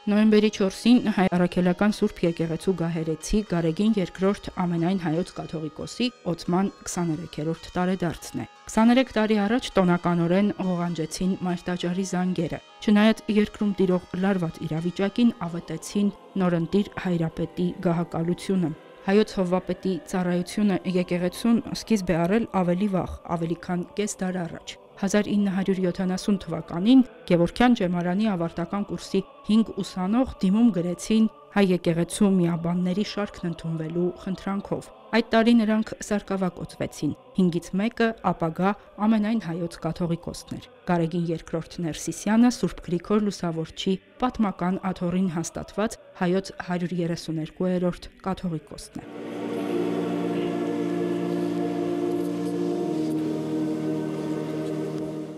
Նոյեմբերի 4-ին հայ առաքելական Սուրբ եկեղեցու գահերեցի Գարեգին II ամենայն հայոց կաթողիկոսի Օծման 23-րդ տարեդարձն է։ 23 տարի առաջ տոնականորեն ղողանջեցին մայրտաճարի զանգերը։ Չնայած երկրում տիրող լարված իրավիճակին ավետեցին նորընտիր հայրապետի գահակալությունը։ Հայոց հովվապետի ծառայությունը եկեղեցուն սկիզբ է առել ավելի վաղ, ավելի քան կես դար առաջ։ 1970 թվականին Գևորգյան ջեմարանի ավարտական կուրսի 5 ուսանող դիմում գրեցին հայ եկեղեցու միաբանների շարքն ընդունվելու խնդրանքով։ Այդ տարի նրանք սարկավակոծվեցին։ 5-ից մեկը ապագա ամենայն հայոց կաթողիկոսն էր։ Գարեգին II Ներսիսյանը Սուրբ Գրիգոր Լուսավորչի պատմական աթոռին հաստատված հայոց 132-րդ կաթողիկոսն է։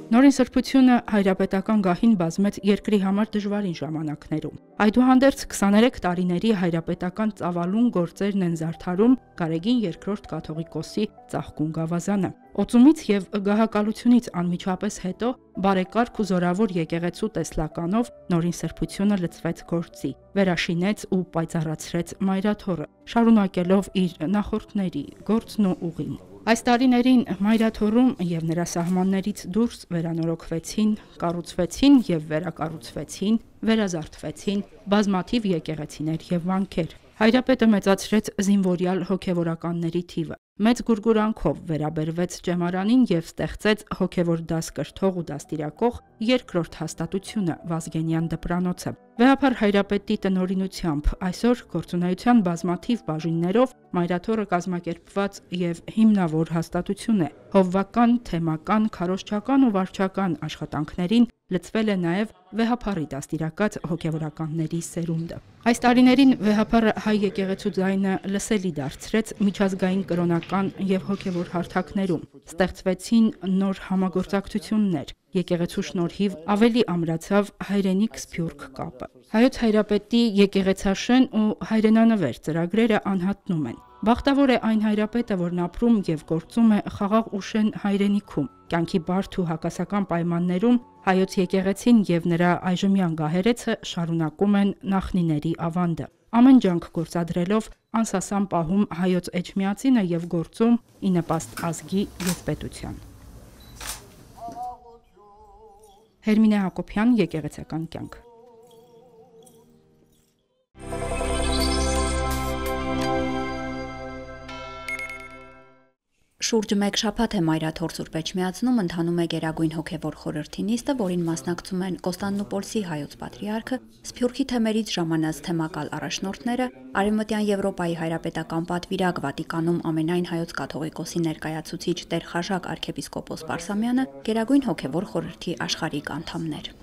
Նորին սրբությունը հայրապետական գահին բազմեց երկրի համար դժվարին ժամանակներում։ Այդուհանդերձ 23 տարիների հայրապետական ծավալուն գործերն են զարդարում Գարեգին II կաթողիկոսի ծաղկուն գավազանը։ Օծումից եւ գահակալությունից անմիջապես հետո բարեկարգ ու զորավոր եկեղեցու տեսլականով նորին սրբությունը լցվեց գործի, վերաշինեց ու պայծառացրեց մայրաթոռը, շարունակելով իր նախորդների գործն ու ուղին։ Այս տարիներին մայրաթոռում եւ նրա սահմաններից դուրս վերանորոգվեցին, կառուցվեցին եւ վերակառուցվեցին, վերազարդվեցին բազմաթիվ եկեղեցիներ եւ վանքեր։ Հայրապետը մեծացրեց զինվորյալ հոգևորականների թիվը, մեծ գուրգուրանքով վերաբերվեց ջեմարանին եւ ստեղծեց հոգևոր դաս կրթող ու դաստիարակող երկրորդ հաստատությունը Վազգենյան դպրանոցը։ Վեհափար հայրապետի տնօրինությամբ այսօր գործունեության բազմաթիվ բաժիններով մայրաթոռը կազմակերպված եւ հիմնավոր հաստատություն է։ Հովվական, թեմական, քարոզչական ու վարչական աշխատանքներին լցվել է նաև վեհափառի դաստիարակած հոգևորականների սերունդը։ Այս տարիներին վեհափառը հայ եկեղեցու ձայնը լսելի դարձրեց միջազգային կրոնական եւ հոգևոր հարթակներում։ Ստեղծվեցին նոր համագործակցություններ։ Եկեղեցու շնորհիվ ավելի ամրացավ հայրենիք-սփյուռք կապը։ Հայոց հայրապետի եկեղեցաշեն ու հայրենանվեր ծրագրերը անհատնում են։ Բախտավոր է այն հայրապետը, որն ապրում եւ գործում է խաղաղ ու շեն հայրենիքում։ Կյանքի բարդ ու հակասական պայմաններում հայոց եկեղեցին եւ նրա այժմյան գահերեցը շարունակում են նախնիների ավանդը։ Ամեն ջանք գործադրելով անսասան պահում հայոց էջմիածինը եւ գործում ի նպաստ ազգի եւ պետության։ Հերմինե Հակոբյան, եկեղեցական կյանք։ Շուրջ մեկ շաբաթ է մայրաթոռ Սուրբ Էջմիածնում ընթանում է Գերագույն հոգևոր խորհրդի նիստը, որին մասնակցում են Կոստանդնուպոլսի հայոց պատրիարքը, Սփյուռքի թեմերից ժամանած թեմակալ առաջնորդները, Արևմտյան Եվրոպայի հայրապետական պատվիրակ Վատիկանում ամենայն հայոց կաթողիկոսի ներկայացուցիչ Տեր Խաժակ arczepiskopos Պարսամյանը, Գերագույն հոգևոր խորհրդի աշխարհիկ անդամներ։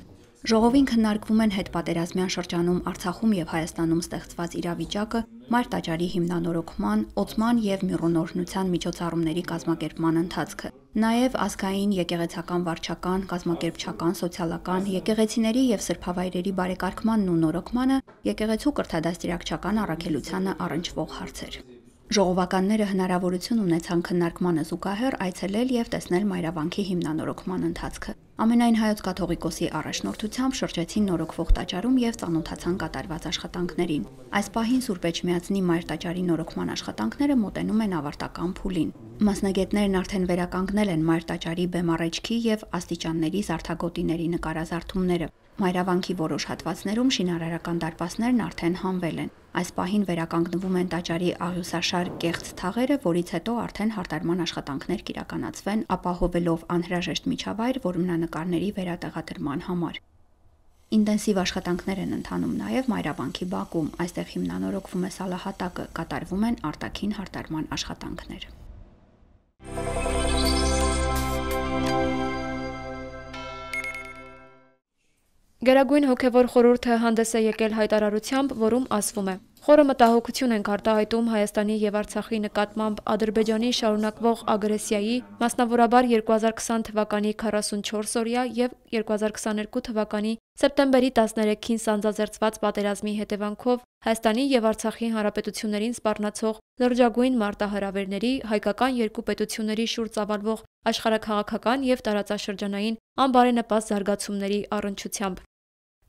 Ժողովին քննարկվում են հետպատերազմյան շրջանում Արցախում եւ Հայաստանում ստեղծված իրավիճակը, մայրտաճարի հիմնանորոգման, օծման եւ միրոնորհնության միջոցառումների կազմակերպման ընթացքը, նաեւ ազգային, եկեղեցական վարչական, կազմակերպչական, սոցիալական, եկեղեցիների եւ սրբավայրերի բարեկարգմանն ու նորոգմանը, եկեղեցու կրթադաստիարակչական առաքելությանը առնչվող հարցեր։ Ժողովականները հնարավորություն ունեցան քննարկմանը զուգահեռ այցելել եւ տեսնել մայրավանքի հիմնանորոգման ընթացքը։ Ամենայն հայոց կաթողիկոսի առաջնորդությամբ շրջեցին նորոգվող տաճարում եւ ծանոթացան կատարված աշխատանքներին։ Այս պահին Սուրբ Էջմիածնի մայրտաճարի նորոգման աշխատանքները մոտենում են ավարտական փուլին։ Մասնագետներն արդեն վերականգնել են մայրտաճարի բեմառեջքի եւ աստիճանների զարդագոտիների նկարազարդումները։ Մայրավանքի որոշ հատվածներում շինարարական դարպասներն արդեն հանվել են։ Այս պահին վերականգնվում են տաճարի աղյուսաշար կեղծ թաղերը, որից հետո արդեն հարդարման աշխատանքներ կիրականացվեն, ապահովելով անհրաժեշտ միջավայր որմնանկարների վերատեղադրման համար։ Ինտենսիվ աշխատանքներ են ընթանում նաև մայրավանքի բակում, այստեղ հիմնանորոգվում է սալահատակը, կատարվում են արտաքին հարդարման աշխատանքներ։ Գերագույն հոգևոր խորհուրդը հանդես է եկել հայտարարությամբ, որում ասվում է. Խորը մտահոգություն ենք արտահայտում Հայաստանի եւ Արցախի նկատմամբ Ադրբեջանի շարունակվող ագրեսիայի, մասնավորաբար 2020 թվականի 44-օրյա եւ 2022 թվականի սեպտեմբերի 13-ին սանձազերծված պատերազմի հետևանքով Հայաստանի եւ Արցախի հանրապետություններին սպառնացող լրջագույն մարտահրավերների, հայկական երկու պետությունների շուրջ ծավալվող աշխարհաքաղաքական եւ տարածաշրջանային անբարենպաստ զարգացումների առնչությամբ։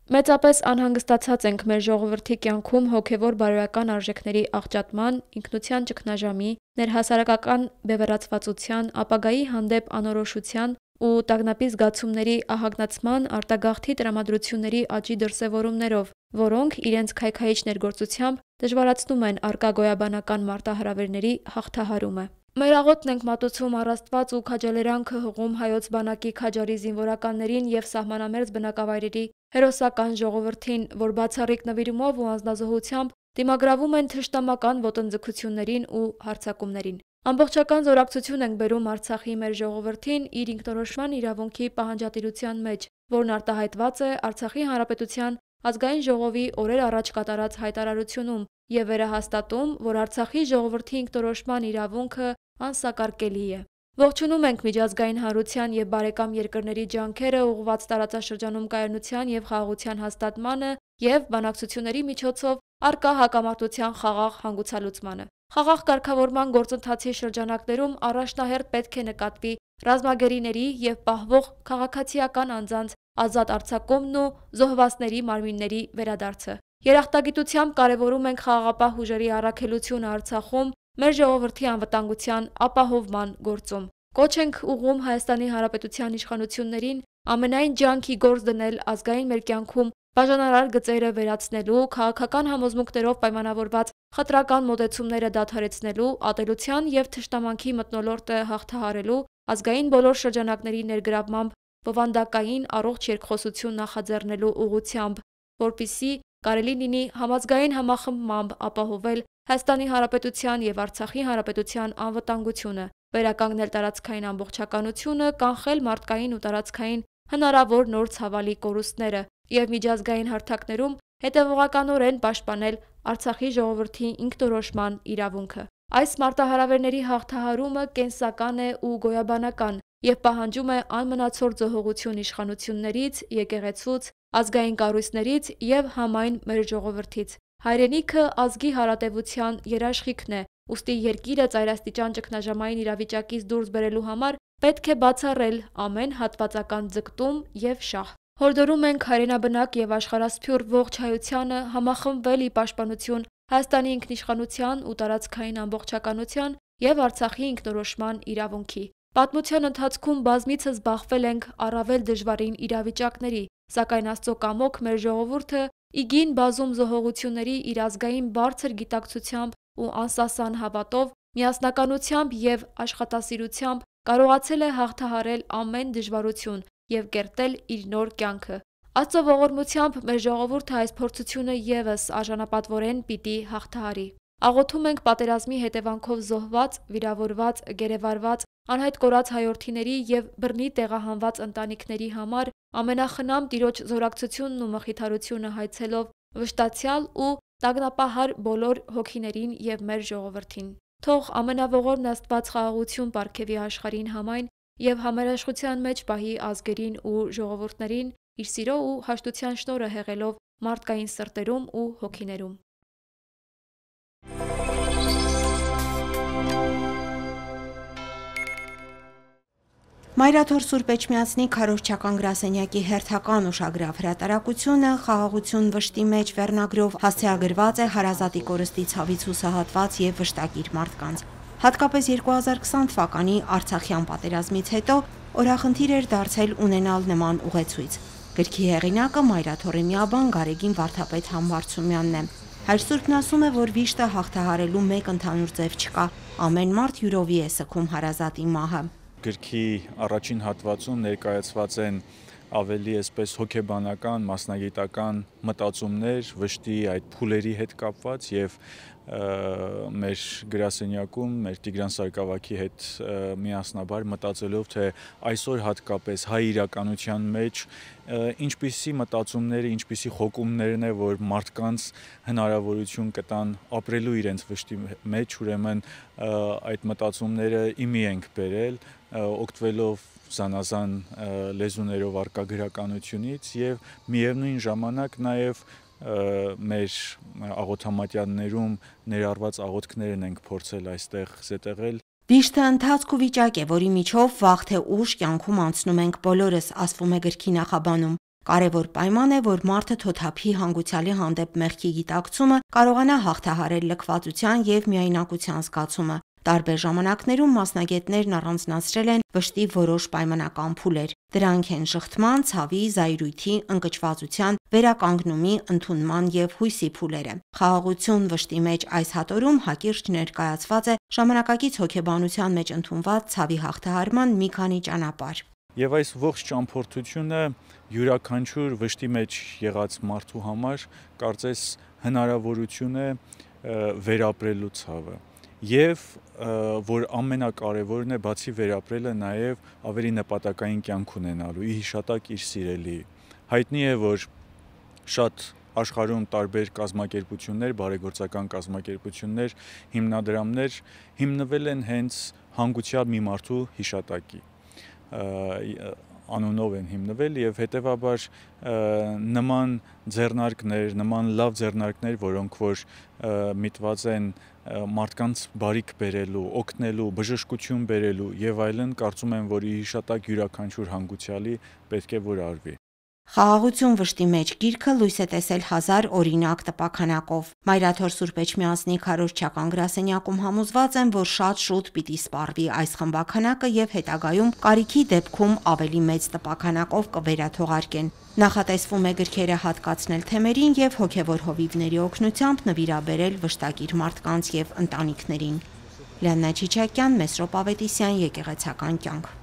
Մեծապես անհանգստացած ենք մեր ժողովրդի կյանքում հոգևոր բարոյական արժեքների աղճատման, ինքնության ճգնաժամի, ներհասարակական բևեռացվածության, ապագայի հանդեպ անորոշության ու տագնապի զգացումների ահագնացման արտագաղթի տրամադրությունների աճի դրսևորումներով, որոնք իրենց քայքայիչ ներգործությամբ դժվարացնում են առկա գոյաբանական մարտահրավերների հաղթահարումը։ Մեր աղոթն ենք մատուցում առ Աստված ու քաջալերանքը հղում հայոց բանակի քաջարի զինվորականներին եւ սահմանամերձ բնակավայրերի հերոսական ժողովրդին, որ բացառիկ նվիրումով ու անձնազոհությամբ դիմագրավում են թշնամական ոտնձգություններին ու հարձակումներին։ Ամբողջական զորակցություն ենք բերում Արցախի մեր ժողովրդին իր ինքնորոշման իրավունքի պահանջատիրության մեջ, որն արտահայտված է Արցախի Հանրապետության Ազգային ժողովի օրեր առաջ կատարած հայտարարությունում եւ վերահաստատում, որ Արցախի ժողովրդի ինքնորոշման իրավունքը անսակարկելի է։ Ողջունում ենք միջազգային հանրության եւ բարեկամ երկրների ջանքերը ուղղված տարածաշրջանում կայունության եւ խաղաղության հաստատմանը եւ բանակցությունների միջոցով առկա հակամարտության խաղաղ հանգուցալուծմանը։ Խաղաղ կարգավորման գործընթացի շրջանակներում առաջնահերթ պետք է նկատվի ռազմագերիների եւ պահվող քաղաքացիական անձանց ազատ արձակումն ու զոհվածների մարմինների վերադարձը։ Երախտագիտությամբ կարևորում ենք խաղաղապահ ուժերի առաքելությունը Արցախում մեր ժողովրդի անվտանգության ապահովման գործում։ Կոչ ենք ուղղում Հայաստանի Հանրապետության իշխանություններին ամենայն ջանքի գործ դնել ազգային մեր կյանքում բաժանարար գծերը վերացնելու, քաղաքական համոզմունքներով պայմանավորված խտրական մոտեցումները դադարեցնելու, ատելության եւ թշնամանքի մթնոլորտը հաղթահարելու, ազգային բոլոր շրջանակների ներգրավմամբ բովանդակային առողջ երկխոսություն նախաձեռնելու ուղղությամբ, որպեսզի կարելի լինի համազգային համախմբմամբ ապահովել Հայաստանի Հանրապետության եւ Արցախի Հանրապետության անվտանգությունը, վերականգնել տարածքային ամբողջականությունը, կանխել մարդկային ու տարածքային հնարավոր նոր ցավալի կորուստները եւ միջազգային հարթակներում հետեւողականորեն պաշտպանել Արցախի ժողովրդի ինքնորոշման իրավունքը։ Այս մարտահրավերների հաղթահարումը կենսական է ու գոյաբանական եւ պահանջում է անմնացորդ զոհողություն իշխանություններից, եկեղեցուց, ազգային կառույցներից եւ համայն մեր ժողովրդից։ Հայրենիքը ազգի հարատեվության երաշխիքն է, ուստի երկիրը ծայրաստիճան ճգնաժամային իրավիճակից դուրս բերելու համար պետք է բացառել ամեն հատվածական ձգտում եւ շահ։ Հորդորում ենք հայրենաբնակ եւ աշխարհասփյուռ ողջ հայությանը համախմբվել ի պաշտպանություն Հայաստանի ինքնիշխանության ու տարածքային ամբողջականության եւ Արցախի ինքնորոշման իրավունքի։ Պատմության ընթացքում բազմիցս բախվել ենք առավել դժվարին իրավիճակների, սակայն Աստծո կամոք մեր ժողովուրդը իգին բազում զոհողությունների իր ազգային բարձր գիտակցությամբ ու անսասան հավատով, միասնականությամբ եւ աշխատասիրությամբ կարողացել է հաղթահարել ամեն դժվարություն եւ կերտել իր նոր կյանքը։ Աստծո ողորմությամբ մեր ժողովուրդը այս փորձությունը եւս արժանապատվորեն պիտի հաղթահարի։ Աղոթում ենք պատերազմի հետևանքով զոհված, վիրավորված, գերեվարված, անհայտ կորած հայրենիների եւ բռնի տեղահանված ընտանիքների համար ամենախնամ Տիրոջ զորակցությունն ու մխիթարությունը հայցելով վշտացյալ ու տագնապահար բոլոր հոգիներին եւ մեր ժողովրդին։ Թող ամենաողորն Աստված խաղաղություն պարգևի աշխարհին համայն եւ համերաշխության մեջ պահի ազգերին ու ժողովուրդներին իր սիրո ու հաշտության շնորհը հեղելով մարդկային սրտերում ու հոգիներում։ Մայրաթոր Սուրբ Էջմիածնի քարոզչական գրասենյակի հերթական ուշագրավ հրատարակությունը «Խաղաղություն վշտի մեջ» վերնագրով հասցեագրված է հարազատի կորստի ցավից հուսահատված եւ վշտակիր մարդկանց։ Հատկապես 2020 թվականի Արցախյան պատերազմից հետո օրախնդիր էր դարձել ունենալ նման ուղեցույց։ Գրքի հեղինակը Մայրաթորի միաբան Գարեգին Վարդապետ Համբարձումյանն է։ Հայր Սուրբն ասում է, որ վիշտը հաղթահարելու մեկ ընդհանուր ձև չկա։ Ամեն մարդ յուրովի է սգում հարազատի մահը։ Գրքի առաջին հատվածում ներկայացված են ավելի այսպես հոգեբանական, մասնագիտական մտածումներ վշտի այդ փուլերի հետ կապված եւ մեր գրասենյակում մեր Տիգրան Սարգսակի հետ միասնաբար մտածելով թե այսօր հատկապես հայ իրականության մեջ ինչպիսի մտածումները, ինչպիսի խոկումներն է, որ մարդկանց հնարավորություն կտան ապրելու իրենց վշտի մեջ, ուրեմն այդ մտածումները իմի ենք բերել, օգտվելով զանազան լեզուներով արկա գրականությունից եւ միևնույն ժամանակ նաեւ մեր աղոթամատյաններում ներառված աղոթքներն ենք փորձել այստեղ զետեղել։ Վիշտը ընթացք ու վիճակ է, որի միջով վաղ թե ուշ կյանքում անցնում ենք բոլորս, ասվում է գրքի նախաբանում։ Կարևոր պայման է, որ մարդը թոթափի հանգուցյալի հանդեպ մեղքի գիտակցումը, կարողանա հաղթահարել լքվածության և միայնակության զգացումը։ Տարբեր ժամանակներում մասնագետներն առանձնացրել են վշտի որոշ պայմանական փուլեր։ Դրանք են շղթման, ցավի, զայրույթի, ընկճվածության, վերականգնումի, ընդունման և հույսի փուլերը։ Խաղաղություն վշտի մեջ այս հատորում հակիրճ ներկայացված է ժամանակակից հոգեբանության մեջ ընդունված ցավի հաղթահարման մի քանի ճանապարհ։ Եվ այս ողջ ճամփորդությունը յուրաքանչյուր վշտի մեջ եղած մարդու համար կարծես հնարավորություն է վերապրելու ցավը։ Եվ որ ամենակարևորն է, բացի վերապրելը, նաև ավելի նպատակային կյանք ունենալու, ի հիշատակ իր սիրելի։ Հայտնի է, որ շատ աշխարհում տարբեր կազմակերպություններ, բարեգործական կազմակերպություններ, հիմնադրամներ հիմնվել են հենց հանգուցյալ մի մարդու հիշատակի անունով են հիմնվել եւ հետեւաբար նման ձեռնարկներ, նման լավ ձեռնարկներ, որոնք որ միտված են մարդկանց բարիք բերելու, օգնելու, բժշկություն բերելու եւ այլն, կարծում եմ, որ ի հիշատակ յուրաքանչյուր հանգուցյալի պետք է որ արվի։ Խաղաղություն վշտի մեջ գիրքը լույս է տեսել 1000 օրինակ տպաքանակով։ Մայրաթոր Սուրբ Էջմիածնի քարոզչական գրասենյակում համոզված են, որ շատ շուտ պիտի սպառվի այս խմբաքանակը եւ հետագայում կարիքի դեպքում ավելի մեծ տպաքանակով կվերաթողարկեն։ Նախատեսվում է գրքերը հատկացնել թեմերին եւ հոգեվոր հովիվների օգնությամբ նվիրաբերել վշտակիր մարդկանց եւ ընտանիքներին։ Լիաննա Չիչակյան, Մեսրոպ Ավետիսյան, Եկեղեցական կյանք։